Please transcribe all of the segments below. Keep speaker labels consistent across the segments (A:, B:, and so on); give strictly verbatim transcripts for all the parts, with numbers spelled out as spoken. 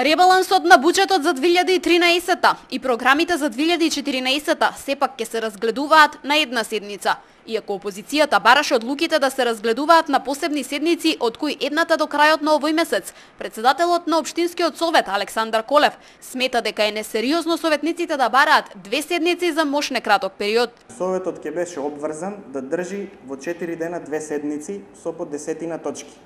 A: Ребалансот на буџетот за две илјади и тринаесетта и програмите за две илјади и четиринаесетта сепак ќе се разгледуваат на една седница. Иако опозицијата бараше одлуките да се разгледуваат на посебни седници, од кои едната до крајот на овој месец, председателот на Општинскиот совет Александар Колев смета дека е несериозно советниците да бараат две седници за мош некраток период.
B: Советот ќе беше обврзан да држи во четири дена две седници со по десетина точки.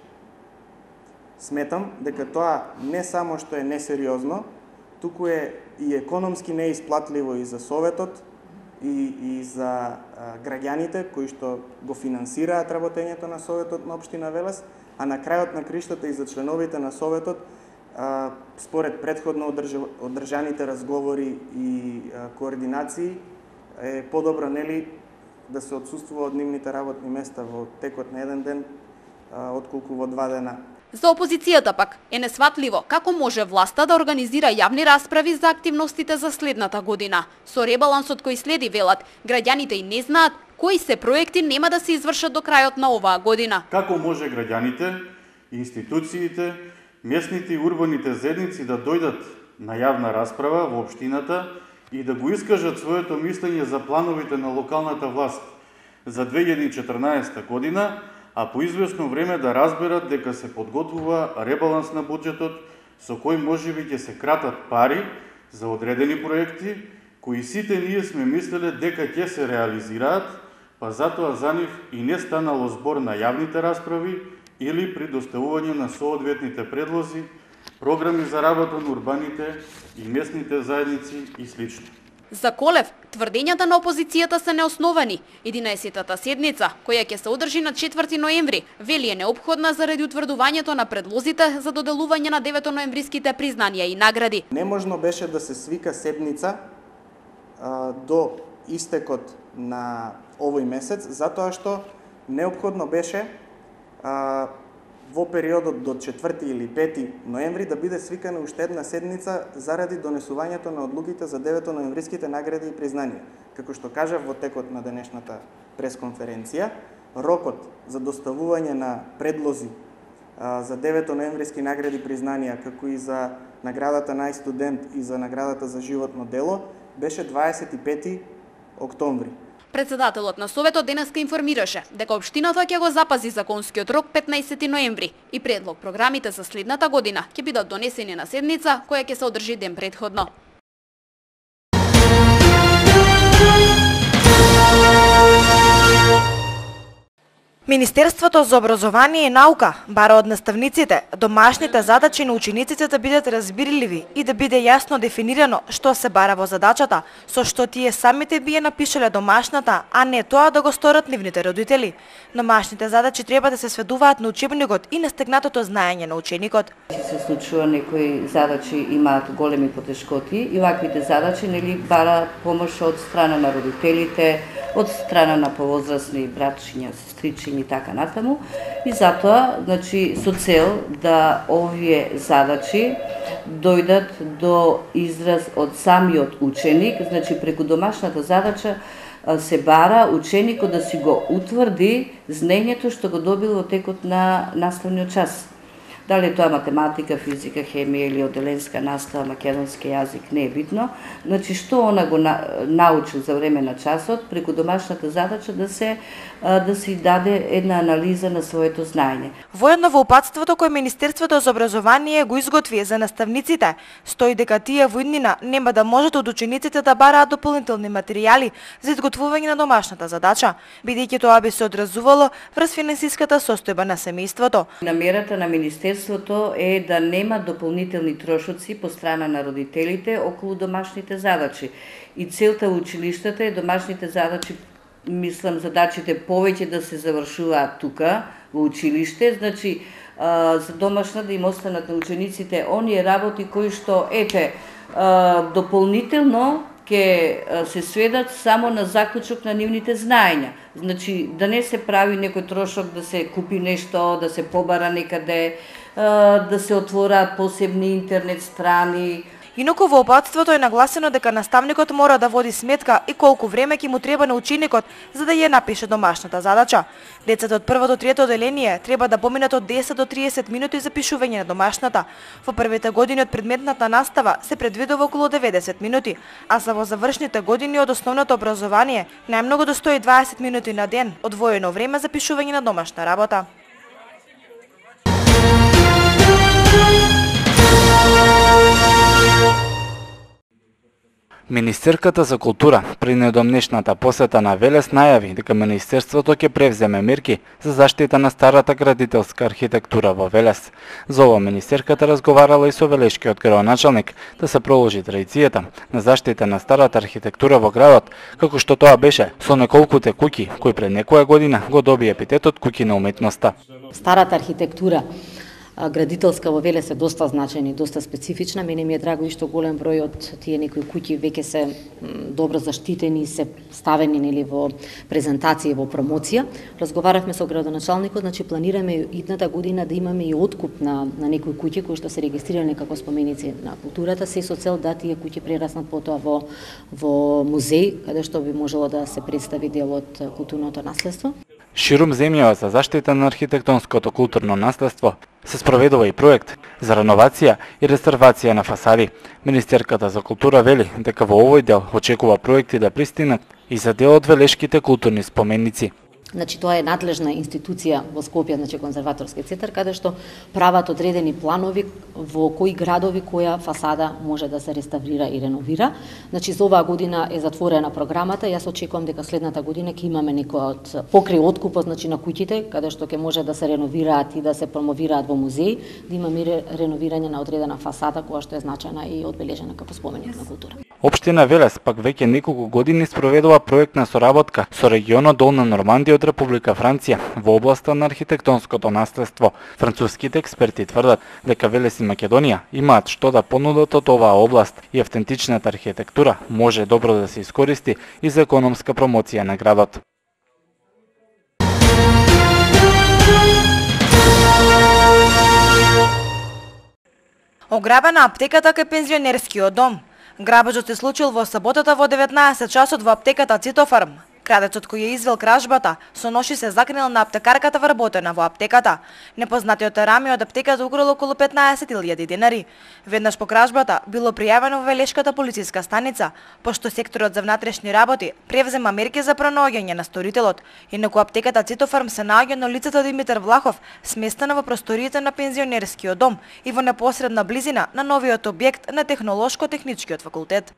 B: Сметам дека тоа не само што е несериозно, туку е и економски неисплатливо и за Советот, и, и за а, граѓаните кои што го финансираат работењето на Советот на Општина Велес, а на крајот на криштата и за членовите на Советот, а, според предходно одрж... одржаните разговори и а, координации, е подобро нели да се отсуствува од нивните работни места во текот на еден ден, а, отколку во два дена.
A: За опозицијата пак е несватливо како може власта да организира јавни расправи за активностите за следната година. Со ребалансот кој следи, велат, граѓаните и не знаат кои се проекти нема да се извршат до крајот на оваа година.
C: Како може граѓаните, институциите, местните и урбаните заедници да дојдат на јавна расправа во општината и да го искажат своето мислење за плановите на локалната власт за две илјади и четрнаесетта година, а по известно време да разберат дека се подготвува ребаланс на буџетот со кој можеби ќе се кратат пари за одредени проекти кои сите ние сме мислеле дека ќе се реализираат, па затоа за нив и не станало збор на јавните расправи или при доставување на соодветните предлози, програми за работа на урбаните и местните заедници и слично.
A: За Колев, тврдењата на опозицијата се неосновани. единаесеттата седница, која ќе се одржи на четврти ноември, вели е неопходна заради утврдувањето на предлозите за доделување на деветоноемвриските признанија и награди.
B: Неможно беше да се свика седница а, до истекот на овој месец, затоа што неопходно беше а, во периодот до четврти или пети ноември да биде свикана уште една седница заради донесувањето на одлуките за деветоноемвриските награди и признанија. Како што кажав во текот на денешната пресконференција, рокот за доставување на предлози а, за деветоноемвриски награди и признанија, како и за наградата најстудент и за наградата за животно дело, беше дваесет и пети октомври.
A: Председателот на Советот денеска информираше дека општината ќе го запази законскиот рок петнаесети ноември и предлог програмите за следната година ќе бидат донесени на седница која ќе се одржи ден претходно.
D: Министерството за образование и наука бара од наставниците домашните задачи на учениците да бидат разбирливи и да биде јасно дефинирано што се бара во задачата, со што тие самите би ја напишале домашната, а не тоа да го сторат нивните родители. Домашните задачи треба да се сведуваат на учебникот и на стегнатото знаење на ученикот.
E: Се случува некои задачи имаат големи потешкоти и ваквите задачи нели бара помош од страна на родителите, од страна на повозрасни братчиња, сестричиња и така натаму. И затоа, значи, со цел да овие задачи дојдат до израз од самиот ученик, значи преку домашната задача се бара ученикот да си го утврди знаењето што го добил во текот на наставниот час. Дали тоа математика, физика, хемија или оделенска настава, македонски јазик, не е битно. Значи, што она го научил за време на часот, преку домашната задача да се да се даде една анализа на своето знаење.
D: Воедно во упатството кој Министерството за образование го изготви за наставниците, стои дека тие во иднина нема да можат од учениците да бараат дополнителни материјали за изготвување на домашната задача, бидејќи тоа би се одразувало врз финансиската состојба на семејството.
E: Намерата на Министерството е да нема дополнителни трошоци по страна на родителите околу домашните задачи. И целта училиштата е домашните задачи, мислам, задачите повеќе да се завршуваат тука, во училиште, значи за домашна да им останат на учениците оние работи кои што, ете, дополнително ќе се сведат само на заклучок на нивните знаења. Значи, да не се прави некој трошок да се купи нешто, да се побара некаде, да се отвораат посебни интернет страни.
D: Инаку во опатството е нагласено дека наставникот мора да води сметка и колку време ќе му треба на ученикот за да ја напише домашната задача. Децата од прво до трето одделение треба да поминат од десет до триесет минути за пишување на домашната. Во првите години од предметната настава се предвидува околу деветдесет минути, а за во завршните години од основното образование најмногу до сто и дваесет минути на ден одвоено време за пишување на домашна работа.
F: Министерката за култура при недомнешната посета на Велес најави дека Министерството ќе превземе мерки за заштита на старата градителска архитектура во Велес. За ова Министерката разговарала и со велешкиот градоначалник да се продолжи традицијата на заштита на старата архитектура во градот, како што тоа беше со неколкуте куќи кои пред некоја година го доби епитетот куќи на уметноста.
G: Старата архитектура градителска во Велес е доста значајна и доста специфична. Мене ми е драго и што голем број од тие некои куќи веќе се добро заштитени и се ставени нели во презентација и во промоција. Разговаравме со градоначалникот, значи планираме идната година да имаме и откуп на на некои куќи кои што се регистрирани како споменици на културата, се со цел да тие куќи прераснат потоа во во музеј, каде што би можело да се представи дел од културното наследство.
F: Ширум земјава за заштита на архитектонското културно наследство се спроведува и проект за реновација и реставрација на фасади. Министерката за култура вели дека во овој дел очекува проекти да пристигнат и за дел од велешките културни споменици.
G: Значи тоа е надлежна институција во Скопје, значи конзерваторски центар, каде што прават одредени планови во кои градови која фасада може да се реставрира и реновира. Значи за оваа година е затворена програмата. Јас очекувам дека следната година ќе имаме некој од покрај откупот, значи на куќите, каде што ќе може да се реновираат и да се промовираат во музеј, да имаме реновирање на одредена фасада која што е значајна и одбележена како споменик на култура.
F: Општина Велес пак веќе неколку години спроведува проектна соработка со регионот Долна Нормандија од Република Франција во областа на архитектонското наследство. Француските експерти тврдат дека Велес и Македонија имаат што да понудат од оваа област и автентичната архитектура може добро да се искористи и за економска промоција на градот.
D: Ограбена аптеката кај пензионерскиот дом. Грабежот се случил во саботата во деветнаесет часот во аптеката Цитофарм. Крадецот кој ја извел кражбата со ноши се закрил на аптекарката вработена во аптеката. Непознатиот рами од аптеката украл околу петнаесет илјади денари. Веднаш по кражбата било пријавено во Велешката полициска станица, пошто секторот за внатрешни работи превзема мерки за пронаоѓање на сторителот. Инаку аптеката Цитофарм се наоѓа на улицата Димитар Влахов, сместена во просториите на пензионерскиот дом и во непосредна близина на новиот објект на Технолошко-техничкиот факултет.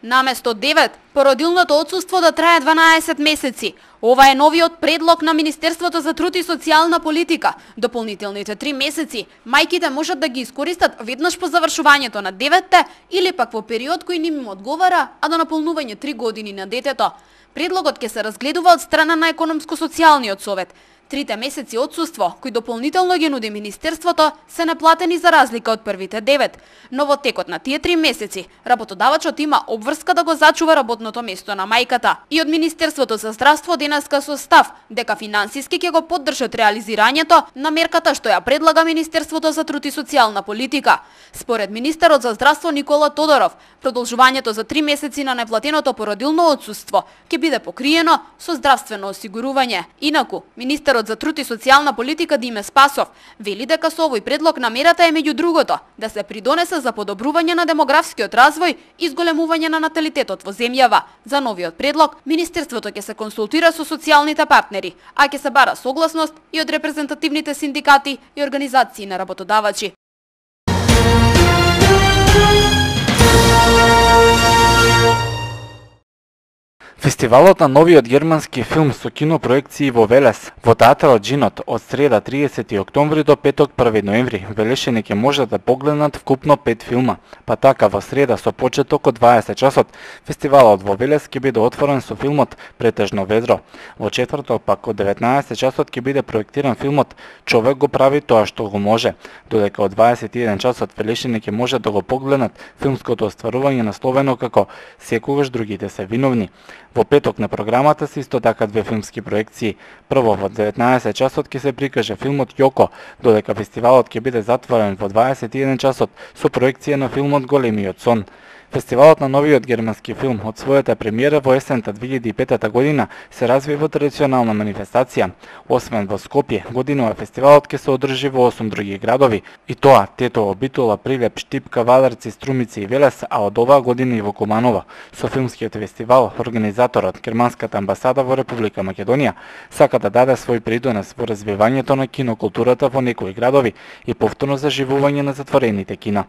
A: Наместо девет, породилното отсуство да трае дванаесет месеци. Ова е новиот предлог на Министерството за труд и социјална политика. Дополнителните три месеци мајките можат да ги искористат веднаш по завршувањето на деветте или пак во период кој ним им одговара, а до наполнување три години на детето. Предлогот ќе се разгледува од страна на Економско-социјалниот совет. Трите месеци отсуство, кои дополнително ги нуди Министерството, се неплатени за разлика од првите девет. Но во текот на тие три месеци, работодавачот има обврска да го зачува работното место на мајката. И од Министерството за здравство денеска со став дека финансиски ќе го поддржат реализирањето на мерката што ја предлага Министерството за труд и социјална политика. Според министерот за здравство Никола Тодоров, продолжувањето за три месеци на неплатеното породилно отсуство ќе биде покриено со здравствено осигурување. Инаку, министерот за труд и социјална политика Диме Спасов вели дека со овој предлог намерата е меѓу другото да се придонесе за подобрување на демографскиот развој и зголемување на наталитетот во земјава. За новиот предлог, Министерството ќе се консултира со социјалните партнери, а ќе се бара согласност и од репрезентативните синдикати и организации на работодавачи.
F: Фестивалот на новиот германски филм со кинопроекции во Велес, во театарот Джинот од среда триесети октомври до петок први ноември, велешани ќе можат да погледнат вкупно пет филма. Па така во среда со почеток од дваесет часот, фестивалот во Велес ќе биде отворен со филмот Претежно ведро. Во четврток пак од деветнаесет часот ќе биде проектиран филмот Човек го прави тоа што го може, додека од дваесет и еден часот велешани ќе можат да го погледнат филмското остварување насловено како Секогаш другите се виновни. Во петок на програмата се исто така две филмски проекции. Прво во деветнаесет часот ќе се прикаже филмот Јоко, додека фестивалот ќе биде затворен во дваесет и еден часот со проекција на филмот Големиот сон. Фестивалот на новиот германски филм од својата премиера во есента две илјади и петта година се разви во традиционална манифестација. Освен во Скопје, годинава фестивалот ќе се одржи во осум други градови, и тоа Тетово, Битола, Прилеп, Штипка, Вадарци, Струмици и Велес, а од оваа година и во Куманово. Со филмскиот фестивал, организаторот, Германската амбасада во Република Македонија, сака да даде свој придонес во развивањето на кинокултурата во некои градови и повторно заживување на затворените кина.